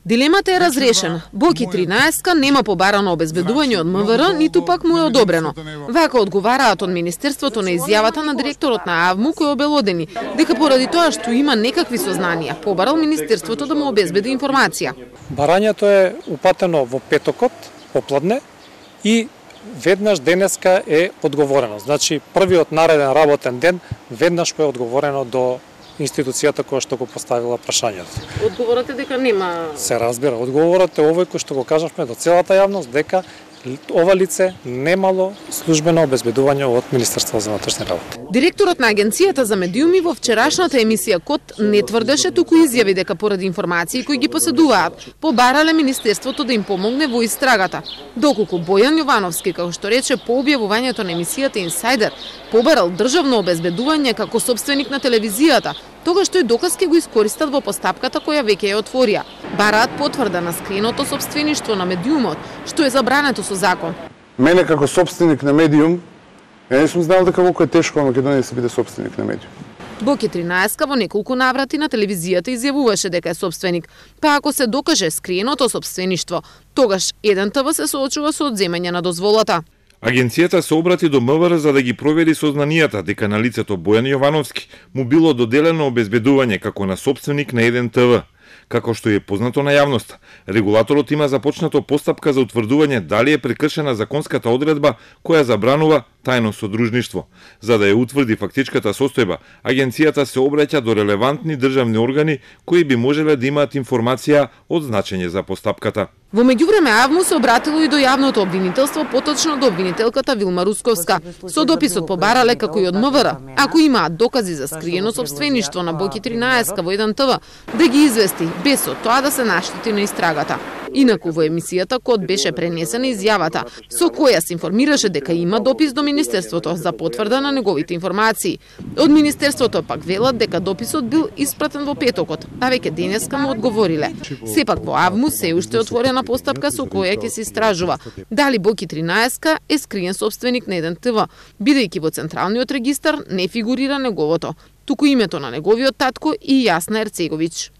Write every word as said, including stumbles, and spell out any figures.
Дилемата е разрешена. Боки тринаесет нема побарано обезбедување од МВР, ниту пак му е одобрено. Вака одговараат од Министерството на изјавата на директорот на АВМУ, кој обелодени дека поради тоа што има некакви сознанија, побарал Министерството да му обезбеди информација. Барањето е упатено во петокот, попладне, и веднаш денеска е одговорено. Значи, првиот нареден работен ден, веднаш е одговорено до институцијата која што го поставила прашањето. Одговорот е дека нема... Се разбира, одговорот е овој кој што го кажавме до целата јавност, дека ова лице немало службено обезбедување од Министерството за внатрешни работи. Директорот на Агенцијата за медиуми во вчерашната емисија Код не тврдеше, туку изјави дека поради информации кои ги поседуваат, побарале Министерството да им помогне во истрагата. Доколку Бојан Јовановски, како што рече по објавувањето на емисијата Инсайдер, побарал државно обезбедување како собственик на телевизијата, тогаш тој доказ ќе го искористат во постапката која веќе ја отворија. Бараат потврда на скриеното сопствеништво на медиумот, што е забрането со закон. Мене како собственик на медиум, ја не сум знал дека колку е тешко во Македонија да се биде собственик на медиум. Боки тринаесет во неколку наврати на телевизијата изјавуваше дека е собственик, па ако се докаже скриеното сопствеништво, тогаш еден те ве се соочува со одземање на дозволата. Агенцијата се обрати до МВР за да ги провери сознанијата дека на лицето Бојан Јовановски му било доделено обезбедување како на собственик на еден те ве. Како што е познато на јавноста, регулаторот има започнато постапка за утврдување дали е прекршена законската одредба која забранува тајно содружништво. За да ја утврди фактичката состојба, агенцијата се обраќа до релевантни државни органи кои би можеле да имаат информација од значење за постапката. Во меѓувреме АВМУ се обратило и до јавното обвинителство, поточно до обвинителката Вилма Русковска. Со дописот побарале како и од МВР, ако имаат докази за скриено сопствеништво на Боки тринаесет во еден те ве, да ги извести без од тоа да се наштети на истрагата. Инаку во емисијата Код беше пренесена изјавата со која се информираше дека има допис до Министерството за потврда на неговите информации. Од Министерството пак велат дека дописот бил испратен во петокот, а веќе денеска му одговориле. Сепак во АВМУ се уште отворена постапка со која ќе се истражува дали Боки тринаесет е скриен собственик на еден те ве, бидејќи во Централниот регистар не фигурира неговото, туку името на неговиот татко и Јасна Ерцеговиќ.